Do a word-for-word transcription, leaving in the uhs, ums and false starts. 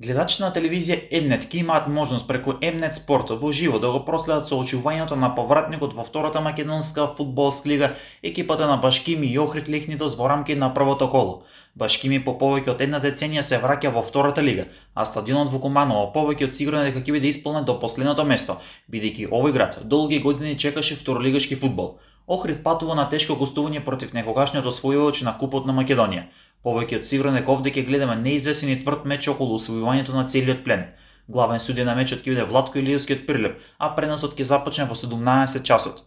Гледачите на телевизија М-нет ќе имаат можност преку М-нет Спорт во живо да го проследат соочувањето на повратникот во втората македонска фудбалска лига, екипата на Башкими и Охрид Лехнитос во рамки на првото коло. Башкими по повеќе од една деценија се враќа во втората лига, а стадионот во Куманово повеќе од сигурно дека ќе биде исполнет до последното место, бидејќи овој град долги години чекаше второлигашки фудбал. Охрид патува на тешко гостување против некогашниот освојувач на Купот на Македонија. Повеќе од сигурно дека овде ќе гледаме неизвестен и тврд меч околу освојувањето на целиот плен. Главен судија на мечот ќе биде Владко Илиевски од Прилеп, а преносот ќе започне во седумнаесет часот.